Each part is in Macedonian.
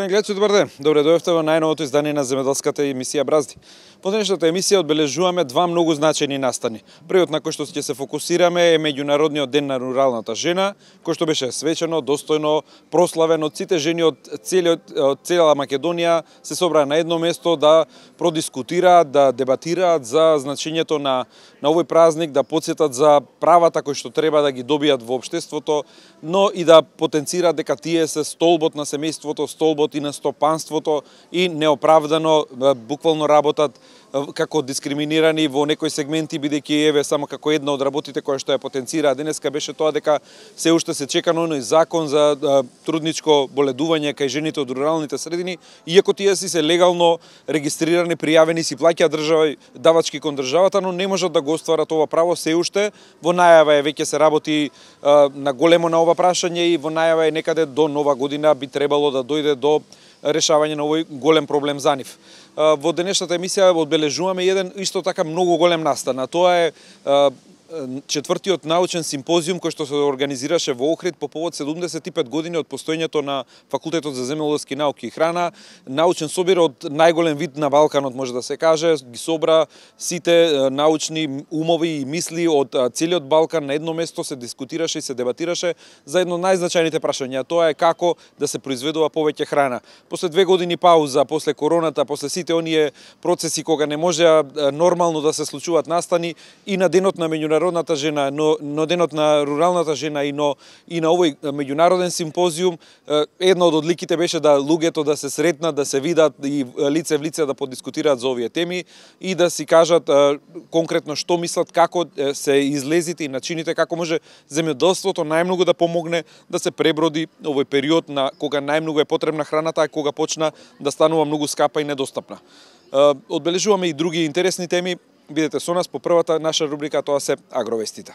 Почитувани гледачи, добар ден. Добре дојдовте во најновото издание на земјоделската емисија Бразди. Во денешната емисија одбележуваме два многу значајни настани. Првиот на кој што ќе се фокусираме е меѓународниот ден на руралната жена, кој што беше свечено, достојно прославен од сите жени од цела Македонија, се собраа на едно место да продискутираат, да дебатираат за значењето на овој празник, да потсетат за правата кои што треба да ги добијат во општеството, но и да потенцираат дека тие се столбот на семејството, столбот и на стопанството и неоправдано буквално работат како дискриминирани во некои сегменти, бидејќи еве само како една од работите која што ја потенцира денеска беше тоа дека се уште се чека на оној закон за трудничко боледување кај жените од руралните средини, иако тие си се легално регистрирани, пријавени, си плаќаат давачки кон државата, но не можат да го остварат ова право се уште. Во најава е веќе се работи на големо на ова прашање и во најава е некаде до нова година би требало да дојде до решавање на овој голем проблем за нив. Во денешната емисија одбележуваме еден исто така многу голем настан, а тоа е четвртиот научен симпозиум кој што се организираше во Охрид по повод 75 години од постоењето на Факултетот за земјоделски науки и храна. Научен собир од најголем вид на Балканот, може да се каже, ги собра сите научни умови и мисли од целиот Балкан на едно место, се дискутираше и се дебатираше за едно од најзначајните прашања, тоа е како да се произведува повеќе храна. После 2 години пауза, после короната, после сите оние процеси кога не можеа нормално да се случуваат настани, и на денот на меѓународната жена, но денот на руралната жена и на овој меѓународен симпозиум, една од одликите беше да луѓето да се сретнат, да се видат и лице в лице да подискутираат за овие теми и да си кажат конкретно што мислат, како се излезите и начините, како може земјоделството најмногу да помогне да се преброди овој период на кога најмногу е потребна храната, а кога почна да станува многу скапа и недостапна. Одбележуваме и други интересни теми. Бидете со нас по првата наша рубрика, тоа се агровестите.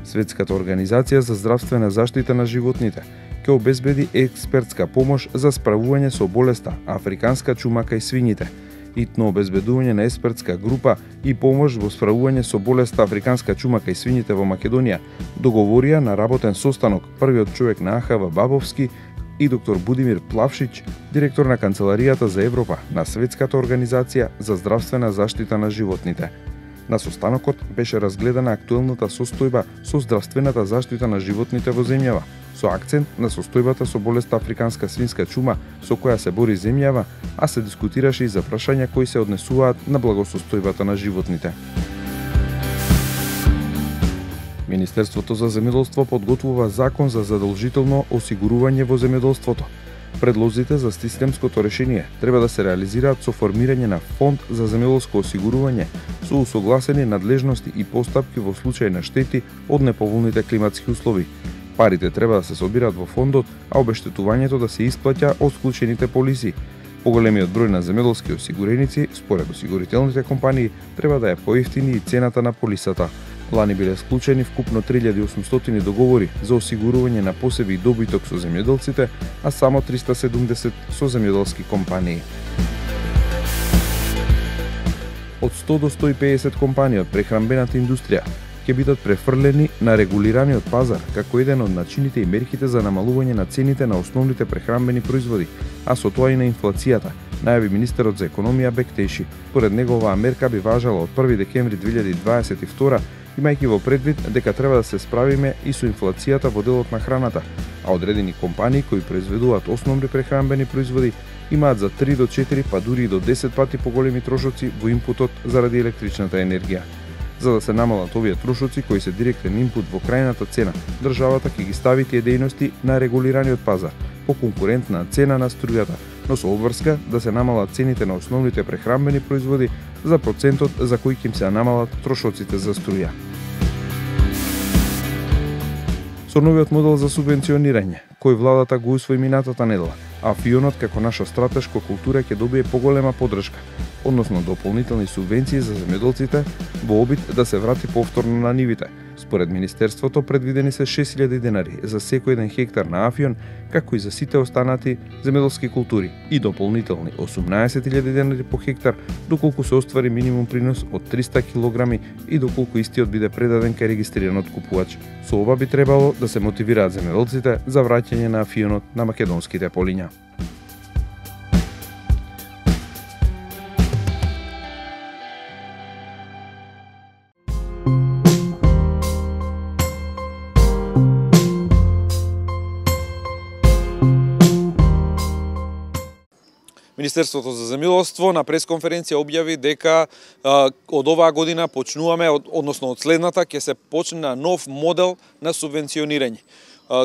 Светската организација за здравствена заштита на животните ќе обезбеди експертска помош за справување со болеста африканска чума кај свињите, итно обезбедување на експертска група и помош во справување со болеста африканска чума кај свињите во Македонија, договорија на работен состанок првиот човек на АХВ Бабовски и доктор Будимир Плавшич, директор на Канцеларијата за Европа на Светската организација за здравствена заштита на животните. На состанокот беше разгледана актуелната состојба со здравствената заштита на животните во земјава, со акцент на состојбата со болеста африканска свинска чума со која се бори земјава, а се дискутираше и за прашања кои се однесуваат на благосостојбата на животните. Министерството за земјоделство подготвува закон за задолжително осигурување во земјоделството. Предлозите за системското решение треба да се реализираат со формирање на фонд за земјоделско осигурување со усогласени надлежности и постапки во случај на штети од неповолните климатски услови. Парите треба да се собираат во фондот, а обештетувањето да се исплаќа од склучените полиси. Поголемиот број на земјоделски осигуреници, според осигурителните компании, треба да е поевтини и цената на полисата. Лани биле склучени вкупно 3800 договори за осигурување на посеби и добиток со земјоделците, а само 370 со земјоделски компании. Од 100 до 150 компании од прехранбената индустрија ќе бидат префрлени на регулираниот пазар како еден од начините и мерките за намалување на цените на основните прехранбени производи, а со тоа и на инфлацијата, најави министерот за економија Бектеши. Според него оваа мерка би важела од 1 декември 2022, имајќи во предвид дека треба да се справиме и со инфлацијата во делот на храната, а одредени компании кои произведуваат основни прехранбени производи имаат за 3 до 4 па дури и до 10 пати поголеми трошоци во импутот заради електричната енергија. За да се намалат овие трошоци кои се директен импут во крајната цена, државата ќе ги стави тие дејности на регулираниот пазар по конкурентна цена на струјата, но со обврска да се намалат цените на основните прехранбени производи за процентот за кој ќе им се намалат трошоците за струја. Со новиот модел за субвенционирање, кој владата го усвои минатата недела, а фионот како наша стратешка култура ќе добие поголема поддршка. односно дополнителни субвенции за земјоделците во обид да се врати повторно на нивите. Според Министерството предвидени се 6.000 денари за секој еден хектар на афион, како и за сите останати земјоделски култури и дополнителни 18.000 денари по хектар доколку се оствари минимум принос од 300 кг и доколку истиот биде предаден кај регистриран откупувач. Со ова би требало да се мотивираат земјоделците за враќање на афионот на македонските полиња. Министерството за земјоделство на пресконференција објави дека од оваа година почнуваме, односно од следната, ќе се почне нов модел на субвенционирање.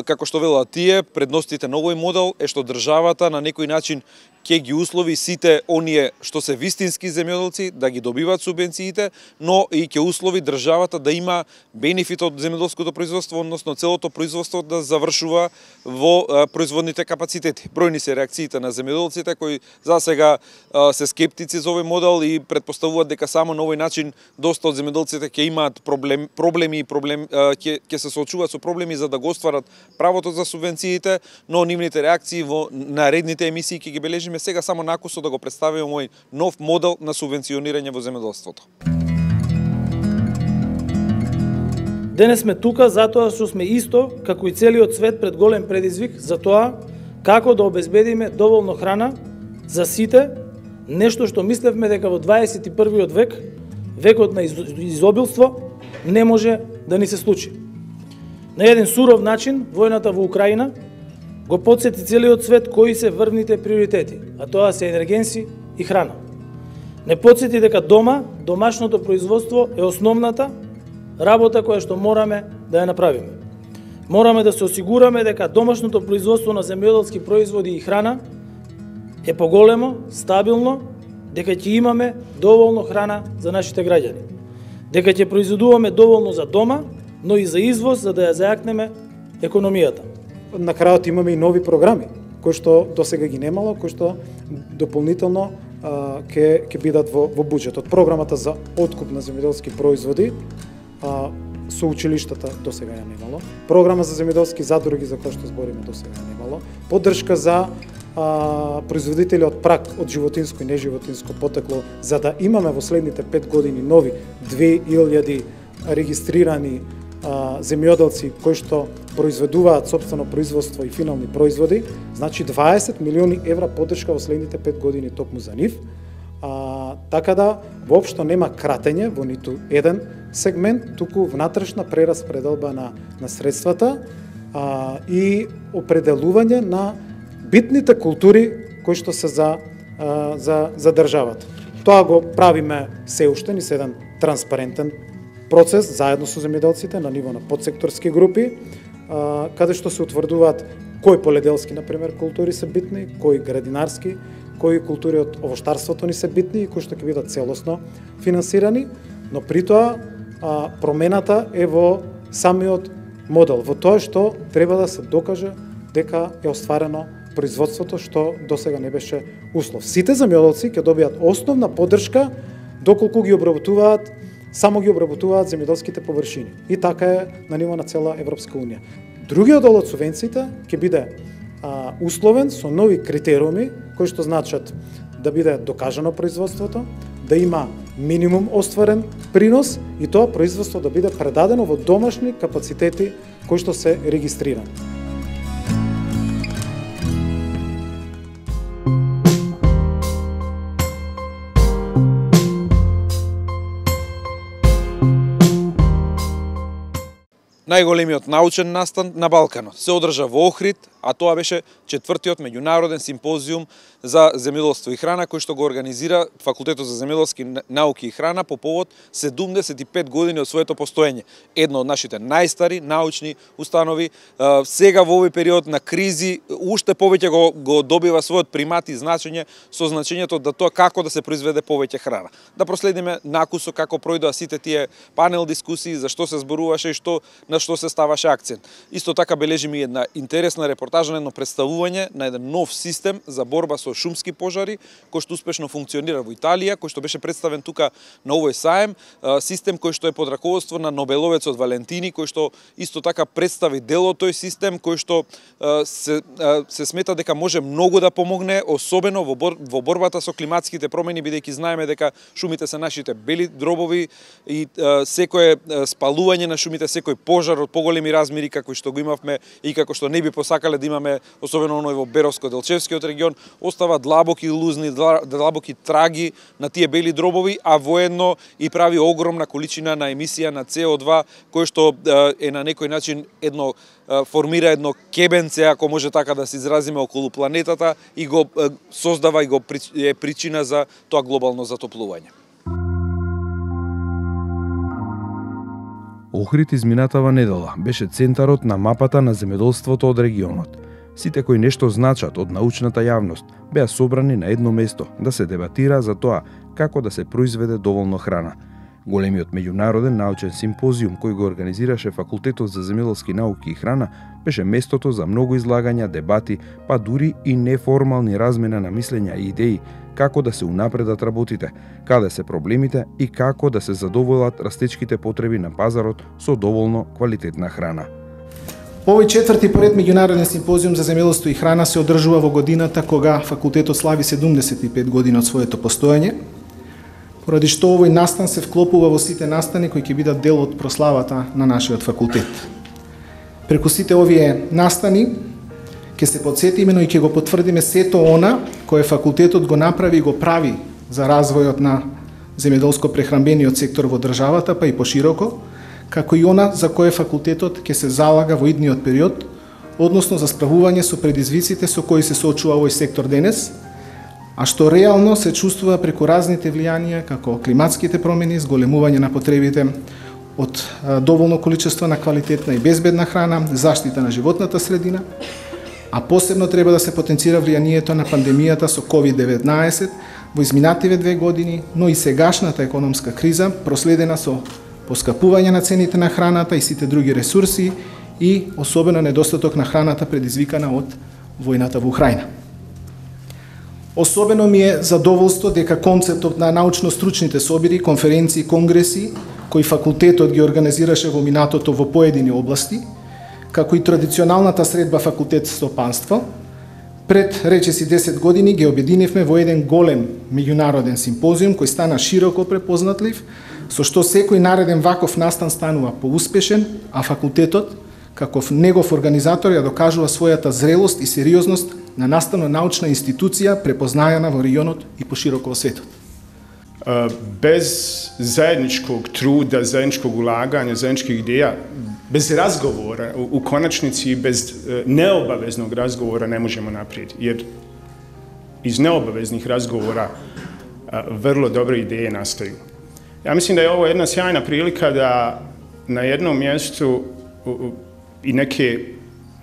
Како што велат тие, предностите на овој модел е што државата на некој начин ќе ги услови сите оние што се вистински земјоделци да ги добиваат субвенциите, но и ќе услови државата да има бенефит од земјоделското производство, односно целото производство да завршува во производните капацитети. Бројни се реакциите на земјоделците кои засега се скептици за овој модел и претпоставуваат дека само на овој начин доста од земјоделците ќе имаат проблеми ќе се соочуваат со проблеми за да го остварат правото за субвенциите, но нивните реакции во наредните емисии ќе ги бележиме. Сега само накусо да го представиме мој нов модел на субвенционирање во земјоделството. Денес сме тука затоа што сме исто, како и целиот свет, пред голем предизвик за тоа како да обезбедиме доволно храна за сите, нешто што мислевме дека во 21. век, векот на изобилство, не може да ни се случи. На еден суров начин, војната во Украина го потсети целиот свет кои се врвните приоритети, а тоа се енергенси и храна. Не потсети дека домашното производство е основната работа која што мораме да ја направиме. Мораме да се осигураме дека домашното производство на земјоделски производи и храна е поголемо, стабилно, дека ќе имаме доволно храна за нашите граѓани. Дека ќе произведуваме доволно за дома, но и за извоз, за да ја зајакнеме економијата. На крајот имаме и нови програми, кои што досега ги немало, кои што дополнително ќе бидат во буџетот. Програмата за откуп на земјоделски производи со училиштата досега ја немало. Програма за земјоделски задруги, за кој што збориме, досега ја немало. Поддршка за производители од прак од животинско и неживотинско потекло, за да имаме во следните 5 години нови 2000 регистрирани земјоделци кои што произведуваат сопствено производство и финални производи, значи 20 милиони евра поддршка во следните 5 години токму за нив. Така да воопшто нема кратење во ниту еден сегмент, туку внатрешна прераспределба на средствата и определување на битните култури кои што се за државата. Тоа го правиме се уште низ еден транспарентен процес заедно со земјоделците на ниво на подсекторски групи, каде што се утврдуваат кои поледелски, например, култури се битни, кои градинарски, кои култури од овоштарството ни се битни и кои што ќе бидат целосно финансирани, но при тоа промената е во самиот модел, во тоа што треба да се докаже дека е остварено производството што досега не беше услов. Сите земјоделци ќе добијат основна поддршка доколку ги обработуваат само ги обработуваат земјоделските површини. И така е на ниво на цела Европска унија. Другиот дел од субвенциите ќе биде условен со нови критериуми кои што значат да биде докажано производството, да има минимум остварен принос и тоа производство да биде предадено во домашни капацитети кои што се регистрирани. Најголемиот научен настан на Балканот се одржа во Охрид, а тоа беше 4-тиот меѓународен симпозиум за земјоделство и храна кој што го организира Факултетот за земјоделски науки и храна по повод 75 години од своето постоење. Едно од нашите најстари научни установи, сега во овој период на кризи уште повеќе го добива својот примат и значење со значењето да тоа како да се произведе повеќе храна. Да проследиме накусо како пројдоа сите тие панел дискусии, за што се зборуваше и што на на што се ставаше акцент. Исто така бележиме една интересна репортажа на едно представување на еден нов систем за борба со шумски пожари, кој што успешно функционира во Италија, кој што беше представен тука на овој саем, систем кој што е под раководство на Нобеловецот Валентини, кој што исто така представи дел од тој систем, кој што се смета дека може многу да помогне, особено во борбата со климатските промени, бидејќи знаеме дека шумите се нашите бели дробови и секое спалување на шумите, секој пожар од поголеми размери како што го имавме и како што не би посакале да имаме, особено оној во Беровско-Делчевскиот регион, остава длабоки лузни, длабоки траги на тие бели дробови, а воедно и прави огромна количина на емисија на CO2, кој што е на некој начин формира едно кебенце, ако може така да се изразиме, околу планетата и го создава и е причина за тоа глобално затоплување. Охрид изминатава недела беше центарот на мапата на земјоделството од регионот. Сите кои нешто значат од научната јавност беа собрани на едно место да се дебатира за тоа како да се произведе доволно храна. Големиот меѓународен научен симпозиум кој го организираше Факултетот за земјоделски науки и храна беше местото за многу излагања, дебати, па дури и неформални размена на мислења и идеи како да се унапредат работите, каде се проблемите и како да се задоволат растечките потреби на пазарот со доволно квалитетна храна. Овој четврти поред меѓународен симпозиум за земјоделство и храна се одржува во годината кога факултетот слави 75 години од своето постоење, поради што овој настан се вклопува во сите настани кои ќе бидат дел од прославата на нашиот факултет. Преку сите овие настани ќе се подсетиме, но и ќе го потврдиме сето она кое факултетот го направи и го прави за развојот на земјоделско-прехранбениот сектор во државата, па и пошироко, како и она за кое факултетот ќе се залага во идниот период, односно за справување со предизвиците со кои се соочува овој сектор денес, а што реално се чувствува преку разните влијанија како климатските промени, зголемување на потребите од доволно количество на квалитетна и безбедна храна, заштита на животната средина, а посебно треба да се потенцира влијанието на пандемијата со COVID-19 во изминативе 2 години, но и сегашната економска криза, проследена со поскапување на цените на храната и сите други ресурси и особено недостаток на храната предизвикана од војната во Украина. Особено ми е задоволство дека концептот на научно-стручните собири, конференции, конгреси, кои факултетот ги организираше во минатото во поедини области, како и традиционалната средба факултет стопанство, пред речиси 10 години ги обединивме во еден голем меѓународен симпозиум кој стана широко препознатлив, со што секој нареден ваков настан станува поуспешен, а факултетот, каков негов организатор, ја докажува својата зрелост и сериозност на наставно-научна институција препознајана во регионот и пошироко во светот. Bez zajedničkog truda, zajedničkog ulaganja, zajedničkih ideja, bez razgovora, u konačnici bez neobaveznog razgovora ne možemo naprijed, jer iz neobaveznih razgovora vrlo dobre ideje nastaju. Ja mislim da je ovo jedna sjajna prilika da na jednom mjestu i neke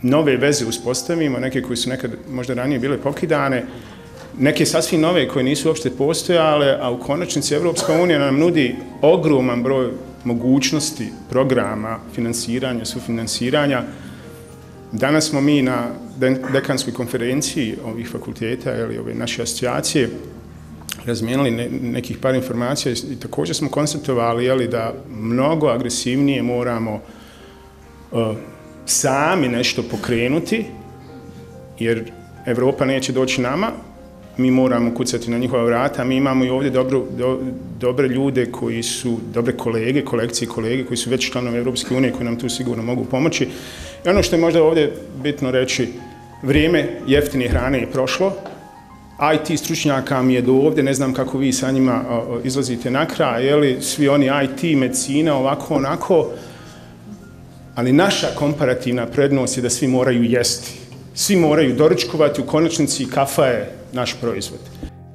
nove veze uspostavimo, neke koje su nekad možda ranije bile pokidane, neke sasvim nove koje nisu uopšte postojale, a u konačnici Evropska unija nam nudi ogroman broj mogućnosti, programa, finansiranja, sufinansiranja. Danas smo mi na dekanskoj konferenciji ovih fakulteta ili ove naše asocijacije razmijenili nekih par informacija i također smo konstatovali da mnogo agresivnije moramo sami nešto pokrenuti, jer Evropa neće doći nama, mi moramo kucati na njihova vrata, mi imamo i ovdje dobre ljude koji su, dobre kolege, kolekcije kolege koji su već članovi Evropske unije, koji nam tu sigurno mogu pomoći. I ono što je možda ovdje bitno reći, vrijeme jeftine hrane je prošlo, IT stručnjaka mi je do ovdje, ne znam kako vi sa njima izlazite na kraj, jeli, svi oni IT, medicina, ovako, onako, ali naša komparativna prednost je da svi moraju jesti. Svi moraju doručkovati, u konačnici kafa je naš proizvod.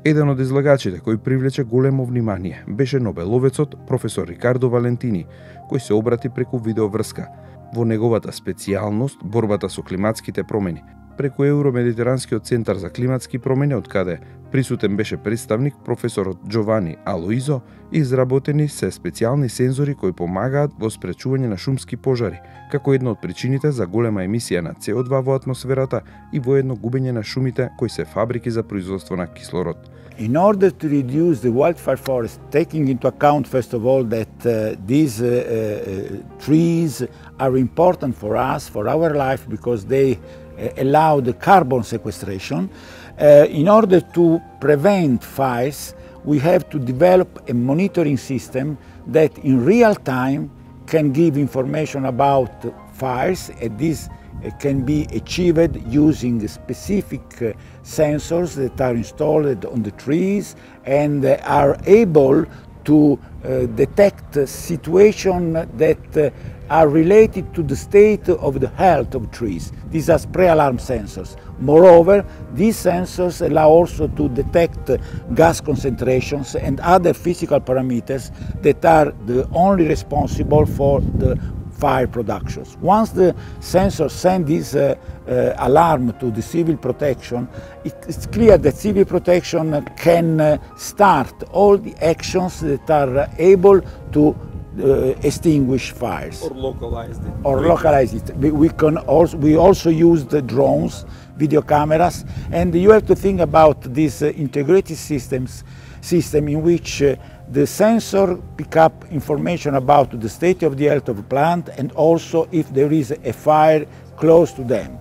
Еден од излагачите кој привлече големо внимание беше Нобеловецот професор Рикардо Валентини, кој се обрати преку видеоврска. Во неговата специјалност, борбата со климатските промени, преку Евромедитеранскиот центар за климатски промени, од каде присутен беше представник професорот Джовани Алоизо, изработени се специјални сензори кои помагаат во спречување на шумски пожари, како една од причините за голема емисија на CO2 во атмосферата и воедно губење на шумите кои се фабрики за производство на кислород. In order to reduce the wildfire forest, taking into account first of all that these trees are important for us, for our life, because they allow the carbon sequestration, in order to prevent fires, we have to develop a monitoring system that in real time can give information about fires, and this can be achieved using specific sensors that are installed on the trees and are able to detect situations that are related to the state of the health of trees. These are pre-alarm sensors. Moreover, these sensors allow also to detect gas concentrations and other physical parameters that are the only responsible for the fire productions. Once the sensors send this alarm to the civil protection, it's clear that civil protection can start all the actions that are able to extinguish fires. Or localize it. Or localize it. We also use the drones, video cameras, and you have to think about this integrated system in which the sensor pick up information about the state of the health of the plant and also if there is a fire close to them.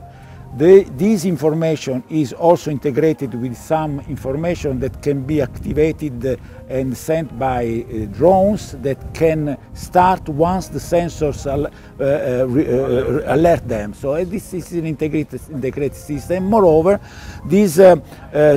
This information is also integrated with some information that can be activated and sent by drones that can start once the sensors alert them. So this is an integrated system. Moreover, this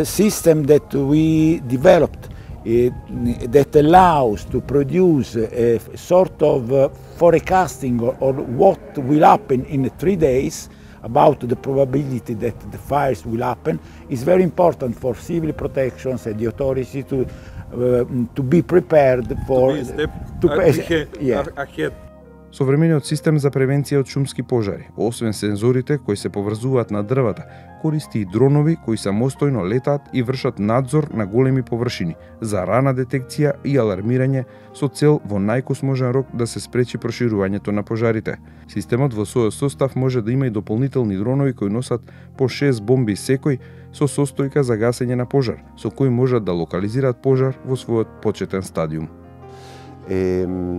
system that we developed that allows to produce a sort of forecasting or what will happen in 3 days about the probability that the fires will happen is very important for civil protections and the authorities to be prepared for ahead. Современиот систем за превенција од шумски пожари, освен сензорите кои се поврзуваат на дрвата, користи и дронови кои самостојно летаат и вршат надзор на големи површини за рана детекција и алармирање со цел во најкосможен рок да се спречи проширувањето на пожарите. Системот во својот состав може да има и дополнителни дронови кои носат по 6 бомби секој со состојка за гасење на пожар, со кои можат да локализираат пожар во својот почетен стадиум.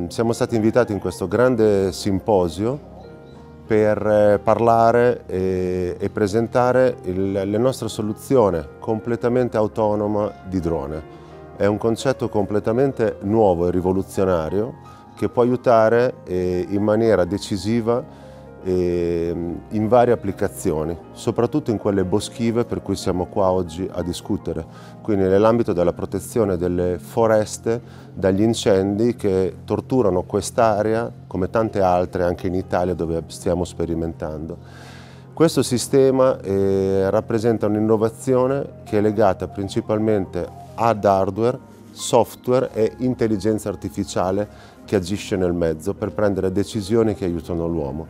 Siamo stati invitati in questo grande simposio per parlare e presentare la nostra soluzione completamente autonoma di drone. È un concetto completamente nuovo e rivoluzionario che può aiutare in maniera decisiva in varie applicazioni, soprattutto in quelle boschive per cui siamo qua oggi a discutere, quindi nell'ambito della protezione delle foreste dagli incendi che torturano quest'area come tante altre anche in Italia dove stiamo sperimentando. Questo sistema rappresenta un'innovazione che è legata principalmente ad hardware, software e intelligenza artificiale che agisce nel mezzo per prendere decisioni che aiutano l'uomo.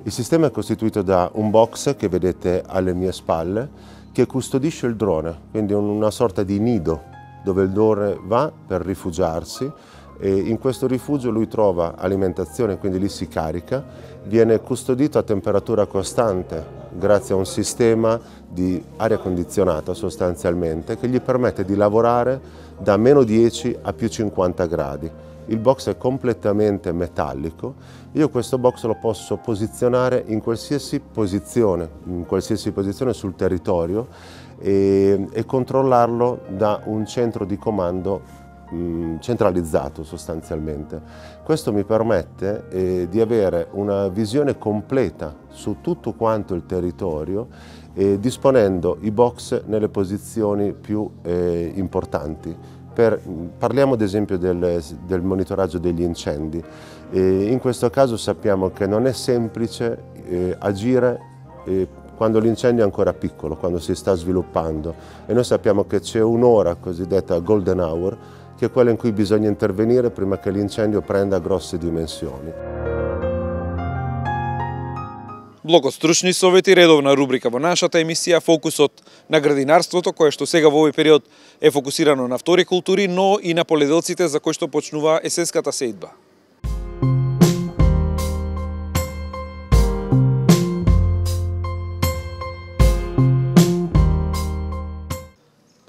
Il sistema è costituito da un box che vedete alle mie spalle che custodisce il drone, quindi una sorta di nido dove il drone va per rifugiarsi e in questo rifugio lui trova alimentazione, quindi lì si carica, viene custodito a temperatura costante grazie a un sistema di aria condizionata sostanzialmente che gli permette di lavorare da -10 a +50 gradi. Il box è completamente metallico, io questo box lo posso posizionare in qualsiasi posizione sul territorio e controllarlo da un centro di comando centralizzato sostanzialmente. Questo mi permette di avere una visione completa su tutto quanto il territorio disponendo i box nelle posizioni più importanti. Parliamo ad esempio del monitoraggio degli incendi. In questo caso sappiamo che non è semplice agire quando l'incendio è ancora piccolo, quando si sta sviluppando e noi sappiamo che c'è un'ora cosiddetta golden hour che è quella in cui bisogna intervenire prima che l'incendio prenda grosse dimensioni. Блокот стручни совети, редовна рубрика во нашата емисија, фокусот на градинарството, кое што сега во овој период е фокусирано на втори култури, но и на поледелците за кои што почнува есенската сејдба.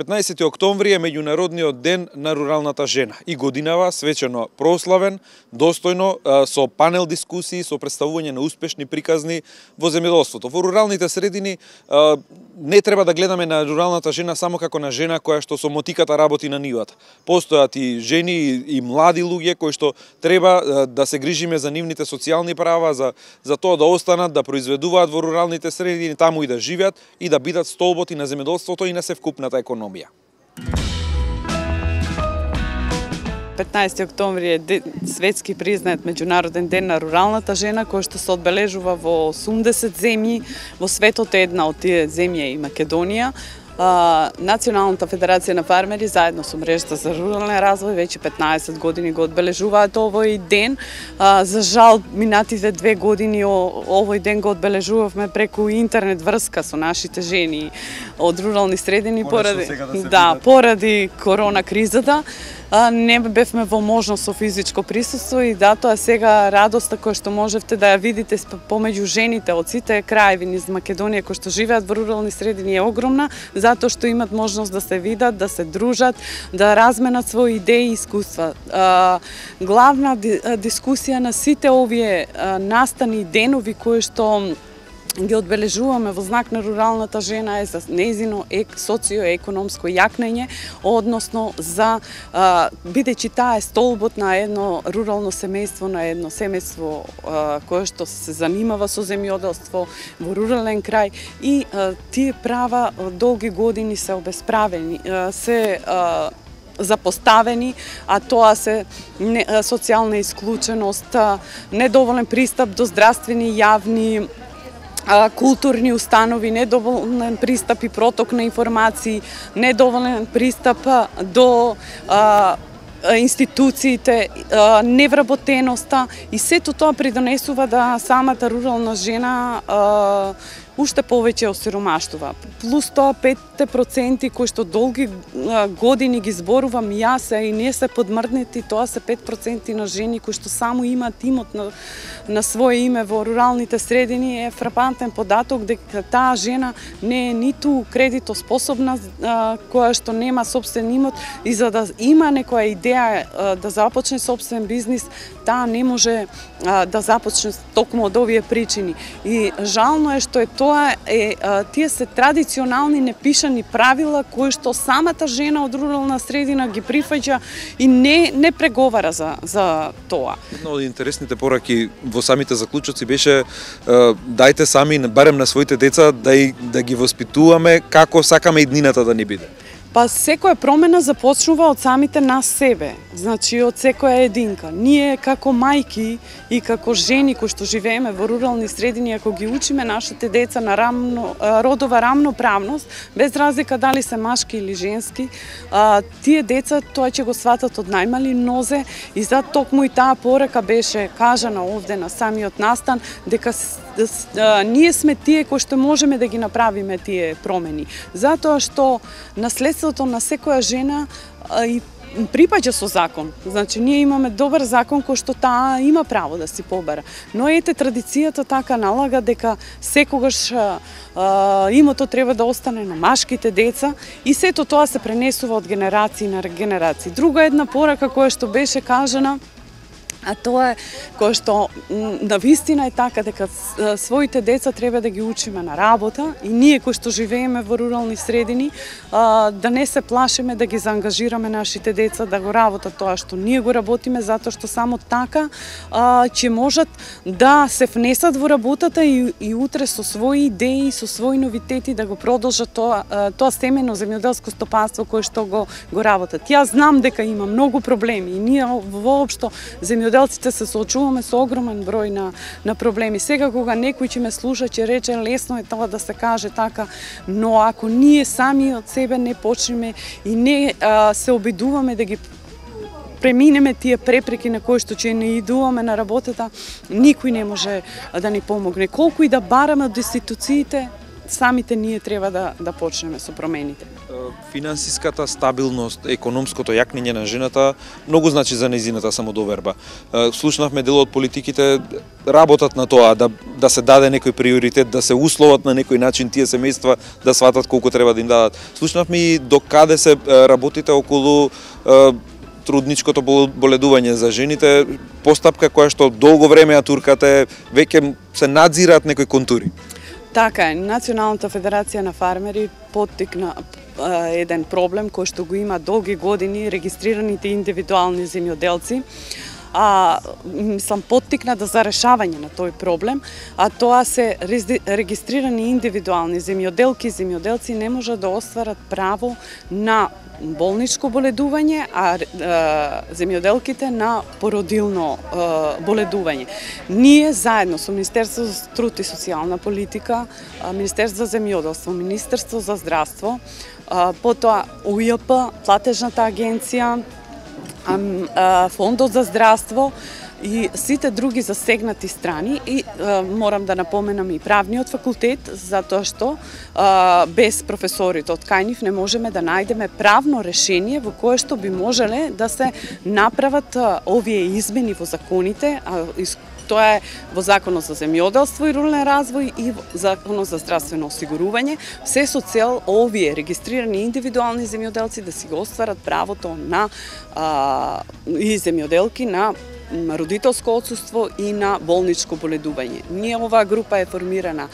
Петнаесети октомври е меѓународниот ден на руралната жена и годинава свечено прославен, достојно, со панел дискусии, со представување на успешни приказни во земјоделството. Во руралните средини не треба да гледаме на руралната жена само како на жена која што со мотиката работи на нивата. Постојат и жени и млади луѓе кои што треба да се грижиме за нивните социјални права, за тоа да останат, да произведуваат во руралните средини, таму и да живеат и да бидат столбот и на земјоделството и на севкупната економија. 15 октомври е светски признат меѓународен ден на руралната жена, кој што се одбележува во 80 земји во светот. Една од тие земји е и Македонија. Националната федерација на фармери заедно со мрежата за рурален развој веќе 15 години го одбележуваат овој ден. За жал, минатите 2 години овој ден го одбележувавме преку интернет врска со нашите жени од рурални средини поради корона кризата. Не бевме во можност со физичко присуство и тоа сега радоста која што можевте да ја видите помеѓу жените од сите краеви низ Македонија кои што живеат во рурални средини е огромна, затоа што имат можност да се видат, да се дружат, да разменат своји идеи и искуства. Главна дискусија на сите овие настани денови кои што ги одбележуваме во знак на руралната жена е за нејзино социоекономско јакнење, односно за бидејќи таа е столбот на едно рурално семејство, на едно семејство кое што се занимава со земјоделство во рурален крај и тие права долги години се обесправени, се запоставени, а тоа се социјална исклученост, недоволен пристап до здравствени јавни културни установи, недоволен пристап и проток на информации, недоволен пристап до институциите, невработеноста и сето тоа придонесува да самата рурална жена уште повеќе осиромаштува. Плюс тоа 5% кои што долги години ги зборувам јас и не се подмрднети, тоа се 5% на жени кои што само имаат имот на свое име во руралните средини. Е фрапантен податок дека таа жена не е ниту кредитоспособна, која што нема сопствен имот и за да има некоја идеја да започне сопствен бизнис, таа не може да започне токму од овие причини. И жално е што е тоа тие се традиционални непишани правила кои што самата жена од рурална средина ги прифаќа и не преговара за тоа. Една од интересните пораки во самите заклучоци беше дајте сами барем на своите деца да ги воспитуваме како сакаме иднината да ни биде. Па секоја промена започнува од самите нас себе, значи од секоја единка. Ние како мајки и како жени кои што живееме во рурални средини, ако ги учиме нашите деца на родова рамноправност, без разлика дали се машки или женски, тие деца тоа ќе го сватат од најмали нозе и за токму и таа порака беше кажана овде на самиот настан дека ние сме тие кои што можеме да ги направиме тие промени. Затоа што наследството на секоја жена и припаѓа со закон. Значи, ние имаме добар закон кој што таа има право да си побара. Но ете, традицијата така налага дека секогаш имото треба да остане на машките деца и сето тоа се пренесува од генерации на генерации. Друга една порака која што беше кажана, а тоа е кое што навистина е така дека своите деца треба да ги учиме на работа и ние кои што живееме во рурални средини да не се плашиме да ги заангажираме нашите деца да го работат тоа што ние го работиме, затоа што само така ќе можат да се внесат во работата и утре со своји идеи, со своји новитети да го продолжат тоа семено земјоделско стопанство кое што го работат. Јас знам дека има многу проблеми и ние воопшто земјоделците се соочуваме со огромен број на проблеми. Сега кога некој ќе ме слуша, ќе рече лесно е тоа да се каже така, но ако ние сами од себе не почнеме и не се обидуваме да ги преминеме тие препреки на кои што ќе не идуваме на работата, никој не може да ни помогне. Колку и да бараме од институциите, самите ние треба да почнеме со промените. Финансиската стабилност, економското јакнење на жената многу значи за нејзината самодоверба. Слушнавме дел од политиките работат на тоа да се даде некој приоритет, да се условат на некој начин тие семејства да сватат колку треба да им дадат. Слушнавме и до каде се работите околу трудничкото боледување за жените, постапка која што долго време ја туркате, веќе се надзираат некои контури. Така е, Националната федерација на фармери поттикна еден проблем кој што го има долги години регистрираните индивидуални земјоделци. Сам поттикна за решавање на тој проблем, а тоа се регистрирани индивидуални земјоделци не можат да остварат право на болничко боледување, а земјоделките на породилно боледување. Ние заедно со Министерство за труд и социјална политика, Министерство за земјоделство, Министерство за здравство, потоа УЈП, платежната агенција, Фондот за здравство и сите други засегнати страни и морам да напоменам и правниот факултет, затоа што без професорите од кај нив не можеме да најдеме правно решение во кое што би можеле да се направат овие измени во законите, тоа е во Законот за земјоделство и рурален развој и во Законот за здравствено осигурување, се со цел овие регистрирани индивидуални земјоделци да си го остварат правото на и земјоделки на родителско отсуство и на болничко боледување. Ние оваа група е формирана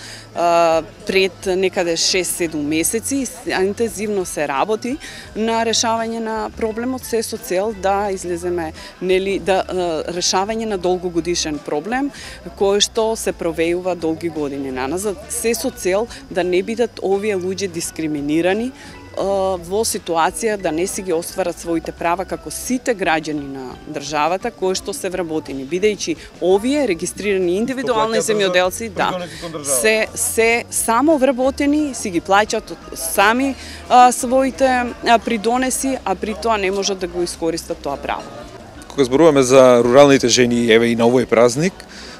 пред некаде 6-7 месеци, интензивно се работи на решавање на проблемот, се со цел да излеземе решавање на долгогодишен проблем кој што се провејува долги години наназад, се со цел да не бидат овие луѓе дискриминирани во ситуација да не си ги остварат своите права како сите граѓани на државата кои што се вработени, бидејќи овие регистрирани индивидуални земјоделци се само вработени, си ги плаќаат сами своите придонеси, а при тоа не можат да го искористат тоа право. Кога зборуваме за руралните жени, еве и на овој празник,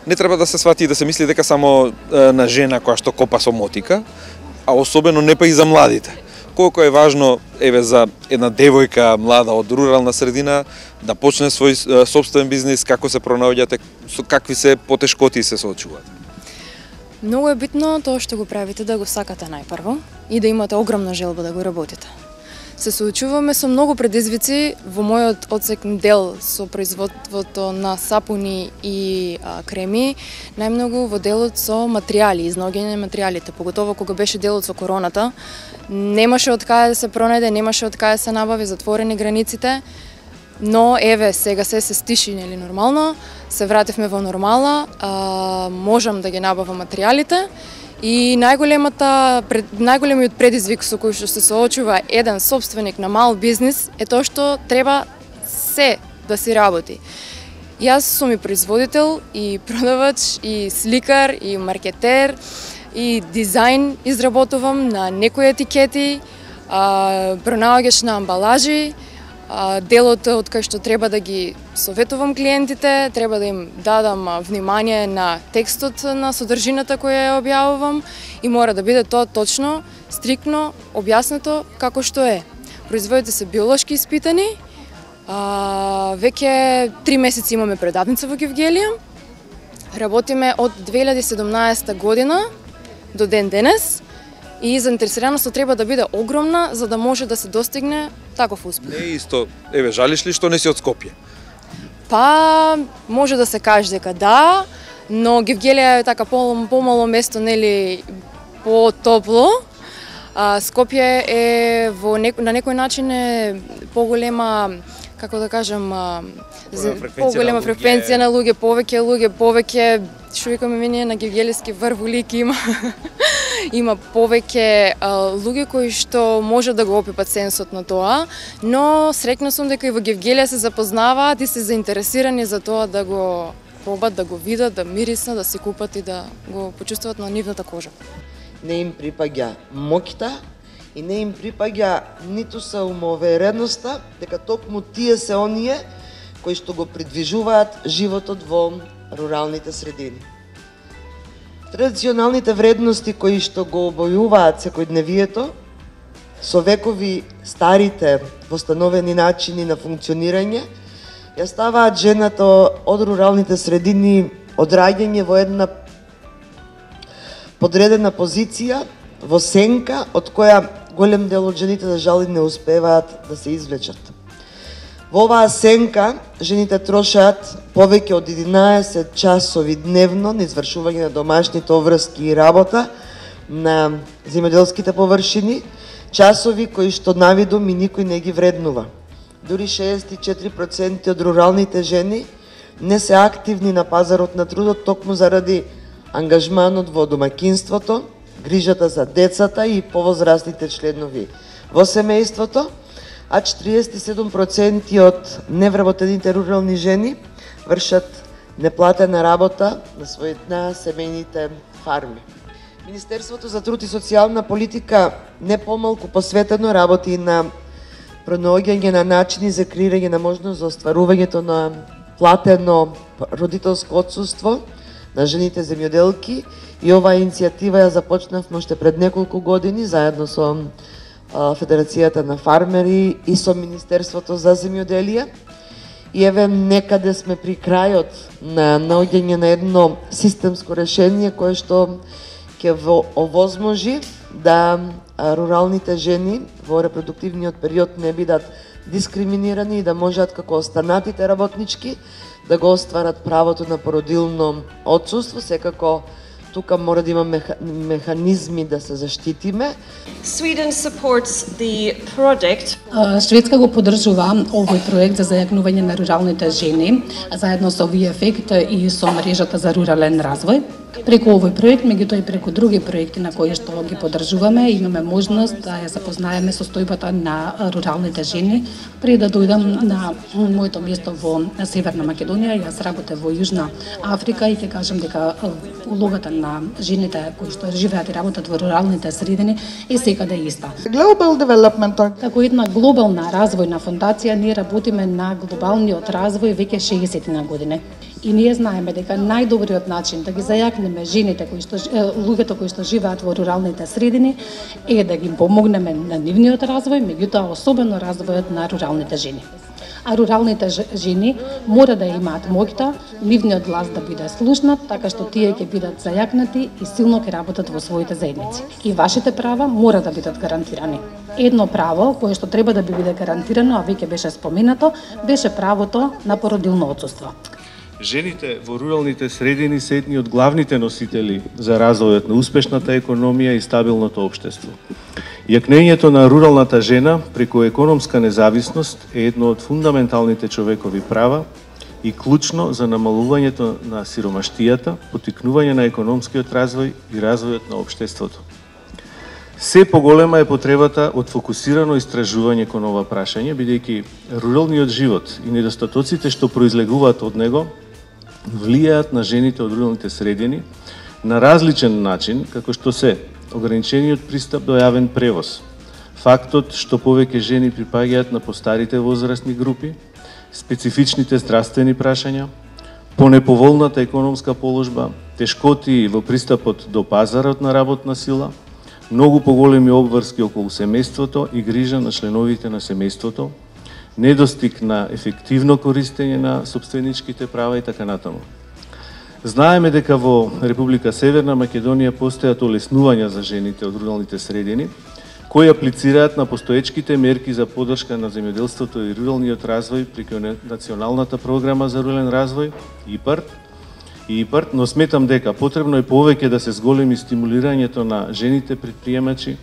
не треба да се свати и да се мисли дека само на жена која што копа со мотика, а особено не па и за младите. Колку е важно еве за една девојка млада од рурална средина да почне свој сопствен бизнис, како се пронаоѓате, со какви се потешкоти се соочувате? Многу е битно тоа што го правите да го сакате најпрво и да имате огромна желба да го работите. Се соочуваме со многу предизвици во мојот одсекн дел со производството на сапуни и креми, најмногу во делот со материјали, изнаоѓање на материјалите, поготово кога беше делот со короната, немаше од каде да се пронајде, немаше од каде да се набави, затворени границите, но еве сега се стиши, нели нормално, се вративме во нормала, можам да ги набавам материјалите. И најголемиот предизвик со кој што се соочува еден сопственик на мал бизнис е тоа што треба се да си работи. Јас сум и производител, и продавач, и сликар, и маркетер, и дизајн изработувам на некои етикети, пронаоѓач на амбалажи, делот од кај што треба да ги советувам клиентите, треба да им дадам внимание на текстот на содржината која ја објавувам и мора да биде тоа точно, стриктно објаснето како што е. Производите се биолошки испитани, веќе 3 месеци имаме предавница во Гевгелија, работиме од 2017 година до ден денес, и заинтересираноста треба да биде огромна за да може да се достигне таков успех. Не исто, еве жалиш ли што не си од Скопје? Па може да се каже дека да, но Гевгелија е така помало место, нели, потопло. Скопје е на некој начин е поголема, како да кажам, поголема фреквенција на луѓе, повеќе што викаме мене на гевгелиски врвулик има. Има повеќе луѓе кои што може да го опипат сенсот на тоа, но среќна сум дека и во Гевгелија се запознаваат и се заинтересирани за тоа да го пробат, да го видат, да мириснат, да се купат и да го почувствуват на нивната кожа. Не им припаѓа моќта и не им припаѓа ниту самоувереността дека токму тие се оние кои што го придвижуваат животот во руралните средини. Традиционалните вредности кои што го обојуваат секојдневието, со векови старите востановени начини на функционирање, ја ставаат жената од руралните средини од раѓање во една подредена позиција, во сенка, од која голем дел од жените, за жал, не успеваат да се извлечат. Во оваа сенка, жените трошат повеќе од 11 часови дневно на извршување на домашните обврски и работа на земјоделските површини, часови кои што навидум и никој не ги вреднува. Дури 64% од руралните жени не се активни на пазарот на трудот токму заради ангажманот во домаќинството, грижата за децата и повозрастните членови во семејството, а 47% од невработените рурални жени вршат неплатена работа на семејните фарми. Министерството за труд и социјална политика не помалку посветено работи на пронаоѓање на начини за креирање на можност за остварувањето на платено родителско отсуство на жените земјоделки, и оваа иницијатива ја започнавме уште пред неколку години заедно со Федерацијата на фармери и со Министерството за земјоделие. И еве некаде сме при крајот на наоѓање на едно системско решение кое што ќе овозможи да руралните жени во репродуктивниот период не бидат дискриминирани и да можат како останатите работнички да го остварат правото на породилно отсуство. Секако тука мора да има механизми да се заштитиме. Sweden supports the project. Шведска го поддржува овој проект за зајакнување на руралните жени заедно со VFECT и со мрежата за рурален развој. Преку овој проект, меѓутоа и преку други проекти на кои што ги поддржуваме, имаме можност да ја запознаеме состојбата на руралните жени. Пред да дојдам на моето место во Северна Македонија, јас работев во Јужна Африка и ќе кажам дека улогата на жените кои што живеат и работат во руралните средини е секаде иста. Global Development. Како една глобална развојна фондација, ние работиме на глобалниот развој веќе 60 на години. И ние знаеме дека најдобриот начин да ги зајакнеме жените луѓето кои што живеат во руралните средини е да ги помогнеме на нивниот развој, меѓутоа особено развојот на руралните жени. А руралните жени мора да имаат моќта нивниот глас да биде слушнат, така што тие ќе бидат зајакнати и силно ќе работат во своите заедници. И вашите права мора да бидат гарантирани. Едно право кое што треба да биде гарантирано, а веќе беше споменато, беше правото на породилно отсуство. Жените во руралните средини се едни од главните носители за развојот на успешната економија и стабилното општество. Јакнењето на руралната жена преку економска независност е едно од фундаменталните човекови права и клучно за намалувањето на сиромаштијата, поттикнување на економскиот развој и развојот на општеството. Се поголема е потребата од фокусирано истражување кон ова прашање, бидејќи руралниот живот и недостатоците што произлегуваат од него влијаат на жените од руралните средини на различен начин, како што се ограничениот пристап до јавен превоз, фактот што повеќе жени припаѓаат на постарите возрастни групи, специфичните здравствени прашања, понеповолната економска положба, тешкоти во пристапот до пазарот на работна сила, многу поголеми обврски околу семејството и грижа на членовите на семејството, недостиг на ефективно користење на сопственичките права и така натаму. Знаеме дека во Република Северна Македонија постојат олеснувања за жените од руралните средини, кои аплицираат на постоечките мерки за поддршка на земјоделството и руралниот развој преку Националната програма за рурален развој, ИПАРД, но сметам дека потребно е повеќе да се зголеми стимулирањето на жените предприемачи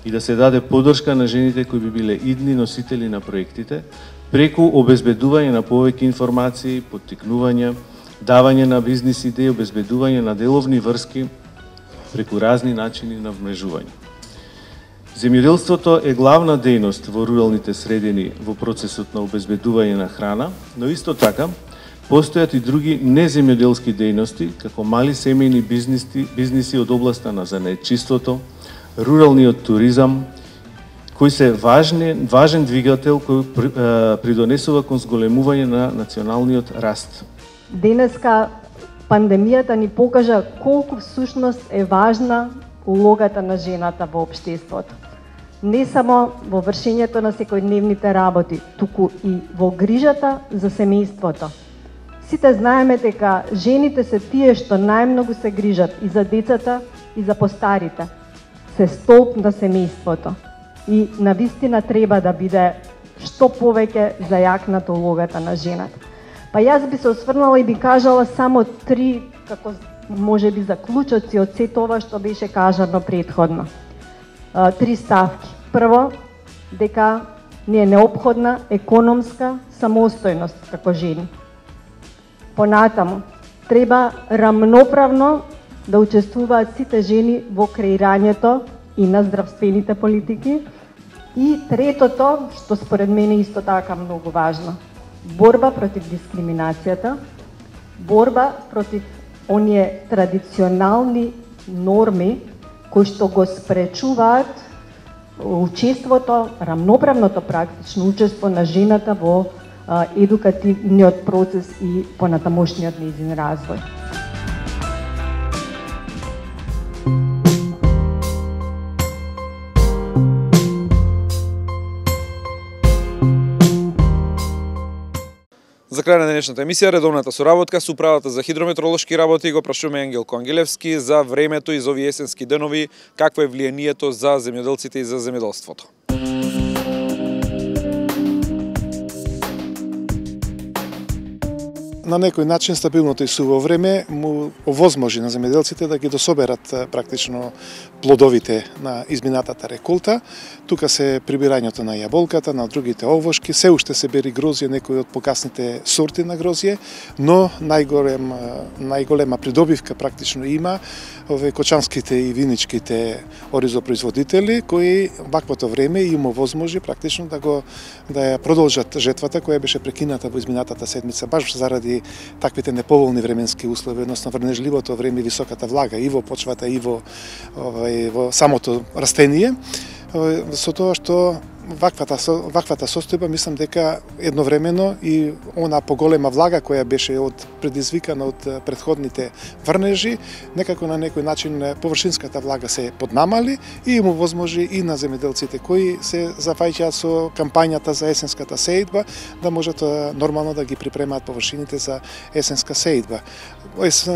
и да се даде поддршка на жените кои би биле идни носители на проектите, преку обезбедување на повеќе информации, поттикнување, давање на бизнис идеи, обезбедување на деловни врски преку разни начини на вмрежување. Земјоделството е главна дејност во руралните средини во процесот на обезбедување на храна, но исто така постојат и други неземјоделски дејности, како мали семејни бизниси од областа на занаетчиството, руралниот туризам, кои се важен двигател кој придонесува кон зголемување на националниот раст. Денеска пандемијата ни покажа колку всушност е важна улогата на жената во општеството. Не само во вршењето на секојдневните работи, туку и во грижата за семејството. Сите знаеме дека жените се тие што најмногу се грижат и за децата и за постарите. Се столб на семејството. И навистина треба да биде што повеќе зајакната улогата на жената. Па јас би се осврнала и би кажала само 3, како може би заклучоци од сето ова што беше кажано претходно. 3 ставки. Прво, дека ни е неопходна економска самостојност како жени. Понатаму, треба рамноправно да учествуваат сите жени во креирањето и на здравствените политики. И третото, што според мене исто така многу важно, борба против дискриминацијата, борба против оние традиционални норми кои што го спречуваат учеството, рамноправното практично учество на жената во едукативниот процес и понатамошниот нејзин развој. За крај на денешната емисија, редовната соработка со Управата за хидрометролошки работи го прашуваме Ангелко Ангелевски за времето из овие есенски денови, какво е влијанието за земјоделците и за земјоделството. На некој начин стабилното и суво време му овозможи на земјоделците да ги дособерат практично плодовите на изминатата реколта. Тука се прибирањето на јаболката, на другите овошки, се уште се бери грозје, некои од покасните сорти на грозје, но најголема придобивка практично има овие кочанските и виничките оризопроизводители кои ваквото време им овозможи практично да ја продолжат жетвата која беше прекината во изминатата седмица баш заради таквите неповолни временски услови, односно врнежливото време и високата влага и во почвата и во самото растение. Со тоа што ваквата состојба, мислам дека едновремено и она поголема влага која беше предизвикана од претходните врнежи, некако на некој начин површинската влага се поднамали и им овозможи и на земјоделците кои се зафаќаат со кампањата за есенската сеидба да можат нормално да ги припремаат површините за есенска сеидба.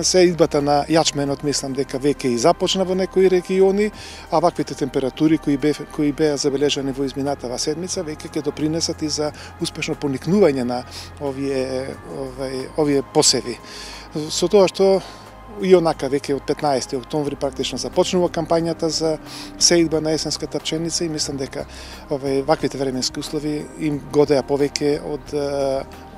Сеидбата на јачменот мислам дека веќе и започна во некои региони, а ваквите температури кои беа забележани во изминатата седмица веќе ќе допринесат и за успешно поникнување на овие посеви. Со тоа што и онака веќе од 15 октомври практично започнува кампањата за сеидба на есенската пченица и мислам дека ваквите временски услови им годеа повеќе од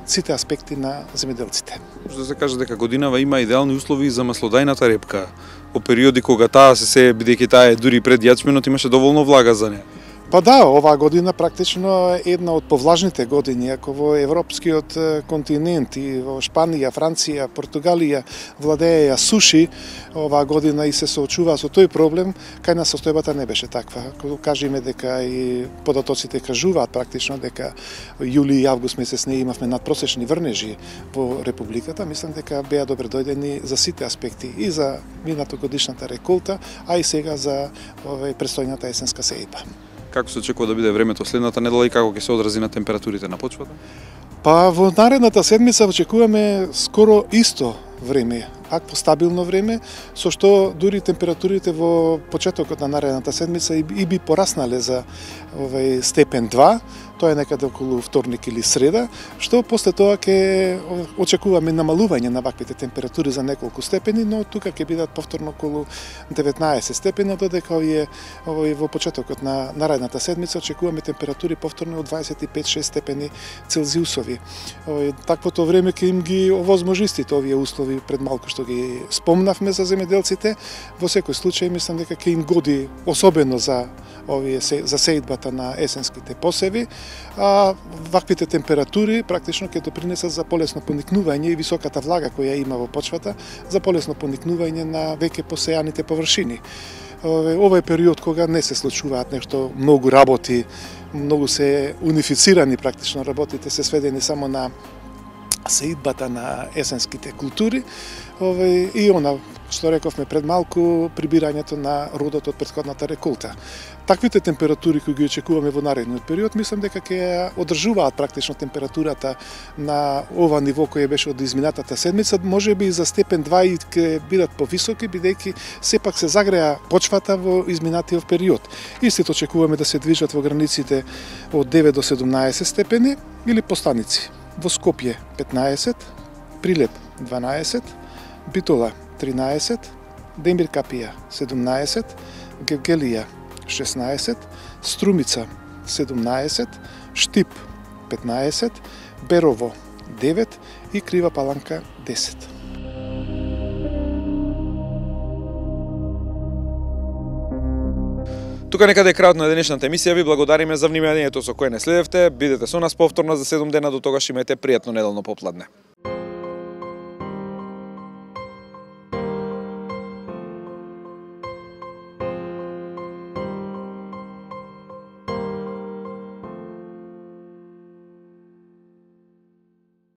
сите аспекти на земјоделците. Може да се каже дека годинава има идеални услови за маслодајната репка. Во периоди кога таа се сее, бидејќи таа е дури пред јачменот, имаше доволно влага за неа. Па да, оваа година практично е една од повлажните години, ако во европскиот континент и во Шпанија, Франција, Португалија владееја суши, оваа година и се соочуваа со тој проблем, кај нас состојбата не беше таква. Ако кажеме дека и податоците кажуваат практично дека јули и август месец не имавме надпросечни врнежи во републиката, мислам дека беа добре дојдени за сите аспекти и за минатогодишната реколта, а и сега за престојната есенска сеидба. Како се очекува да биде времето следната недела и како ќе се одрази на температурите на почвата? Па во наредната седмица очекуваме скоро исто време, акво стабилно време, со што дури температурите во почетокот на наредната седмица и би пораснале за степен 2, тоа е некаде околу вторник или среда, што после тоа ќе очекуваме намалување на ваквите температури за неколку степени, но тука ќе бидат повторно околу 19 степени, додека во почетокот на наредната седмица очекуваме температури повторно од 25-6 степени Целзиусови. Таквото време ќе им ги овозможи овие услови пред малку што ги спомнавме за земјоделците. Во секој случај мислам дека ќе им годи особено за сеидбата на есенските посеви, а ваквите температури практично ќе допринесат за полесно поникнување и високата влага која има во почвата, за полесно поникнување на веќе посејаните површини. Ова е период кога не се случуваат нешто многу работи, многу се унифицирани практично работите, се сведени само на сеидбата на есенските култури, и она што рековме пред малку, прибирањето на родот од претходната реколта. Таквите температури кои ги очекуваме во наредниот период, мислам дека ќе одржуваат практично температурата на ова ниво кој беше од изминатата седмица, можеби и за степен 2 и ќе бидат повисоки, бидејќи сепак се загреа почвата во изминатиот период. Истите очекуваме да се движат во границите од 9 до 17 степени или по станици. Во Скопје 15, Прилеп 12, Битола 13, Демир Капија 17, Гевгелија 16, Струмица 17, Штип 15, Берово 9 и Крива Паланка 10. Тука некаде е крајот на денешната емисија. Ви благодариме за вниманието со кое не следевте. Бидете со нас повторно за 7 дена. До тогаш имајте пријатно неделно попладне.